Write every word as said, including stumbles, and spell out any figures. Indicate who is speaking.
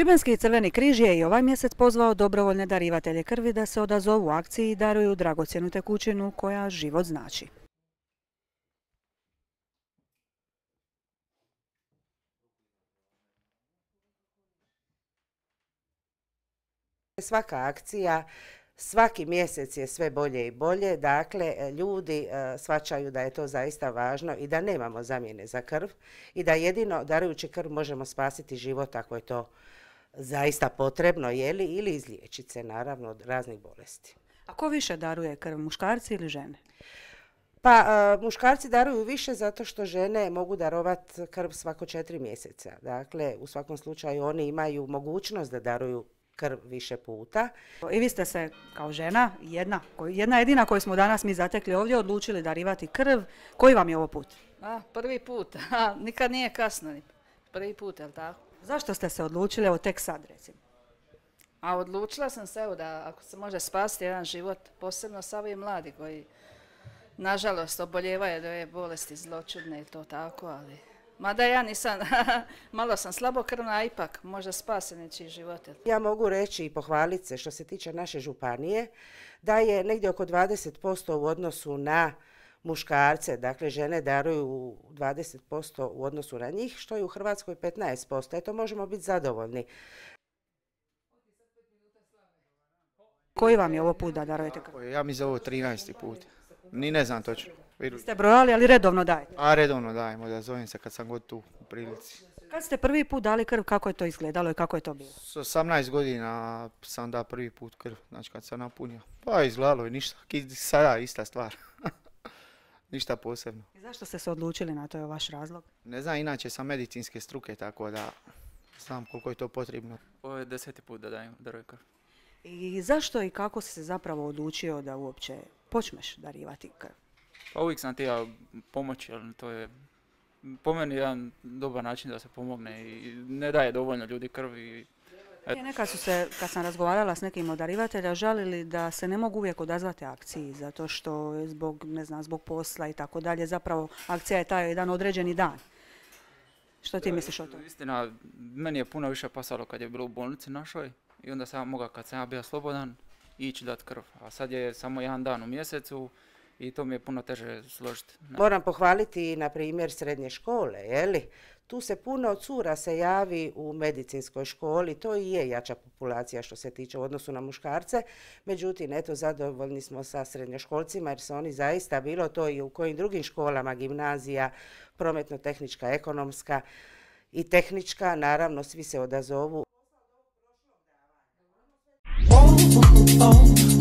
Speaker 1: Šibenski Crveni križ je i ovaj mjesec pozvao dobrovoljne darivatelje krvi da se odazovu akciji i daruju dragocjenu tekućinu koja život znači.
Speaker 2: Svaka akcija, svaki mjesec je sve bolje i bolje, dakle ljudi shvaćaju da je to zaista važno i da nemamo zamjene za krv i da jedino darujući krv možemo spasiti život ako je to zaista potrebno, jeli, ili izliječiti se naravno od raznih bolesti.
Speaker 1: A ko više daruje krv, muškarci ili žene?
Speaker 2: Pa muškarci daruju više zato što žene mogu darovati krv svako četiri mjeseca. Dakle, u svakom slučaju oni imaju mogućnost da daruju krv više puta.
Speaker 1: I vi ste se kao žena, jedna, jedna jedina koju smo danas mi zatekli ovdje, odlučili darivati krv. Koji vam je ovo put?
Speaker 3: A, prvi put. A, nikad nije kasno. Prvi put, je li tako?
Speaker 1: Zašto ste se odlučili, evo tek sad recimo?
Speaker 3: A odlučila sam se evo da ako se može spasiti jedan život, posebno sa ovim mladi koji nažalost oboljevaju od ove bolesti zloćudne i to tako, ali mada ja nisam, malo sam slabokrvna, a ipak možda spase nečiji život.
Speaker 2: Ja mogu reći i pohvaliti se što se tiče naše županije da je negdje oko dvadeset posto u odnosu na muškarce, dakle žene daruju dvadeset posto u odnosu na njih, što je u Hrvatskoj petnaest posto. Eto, možemo biti zadovoljni.
Speaker 1: Koji vam je ovo put da darujete krv?
Speaker 4: Ja mi za ovo trinaesti put. Ni ne znam točno.
Speaker 1: Ste brojali, ali redovno dajete?
Speaker 4: A redovno dajemo, da zovem se kad sam god tu u prilici.
Speaker 1: Kad ste prvi put dali krv, kako je to izgledalo i kako je to bilo?
Speaker 4: S osamnaest godina sam dao prvi put krv, znači kad sam napunio. Pa izgledalo je ništa, sada ista stvar. Ništa posebno.
Speaker 1: I zašto ste se odlučili na to, je vaš razlog?
Speaker 4: Ne znam, inače sam medicinske struke, tako da znam koliko je to potrebno.
Speaker 5: Ovo je deseti put da dajem darujem krv.
Speaker 1: I zašto i kako si se zapravo odlučio da uopće počneš darivati krv?
Speaker 5: Pa uvijek sam htio pomoći, ali to je po meni jedan dobar način da se pomogne i ne daje dovoljno ljudi krv. I
Speaker 1: nekad su se, kad sam razgovarala s nekim od darivatelja, žalili da se ne mogu uvijek odazvati akciji, zato što je zbog, ne znam, zbog posla i tako dalje, zapravo akcija je taj jedan određeni dan. Što ti misliš o tome?
Speaker 5: Istina, meni je puno više pasalo kad je bilo u bolnici našoj i onda sam mogao, kad sam ja bio slobodan, ići dati krv. A sad je samo jedan dan u mjesecu i to mi je puno teže složiti.
Speaker 2: Moram pohvaliti na primjer srednje škole, jeli? Tu se puno cura se javi u medicinskoj školi, to i je jača populacija što se tiče u odnosu na muškarce. Međutim, eto, zadovoljni smo sa srednjoškolcima jer su oni zaista, bilo to i u kojim drugim školama, gimnazija, prometno-tehnička, ekonomska i tehnička, naravno svi se odazovu.
Speaker 6: Oh, oh, oh.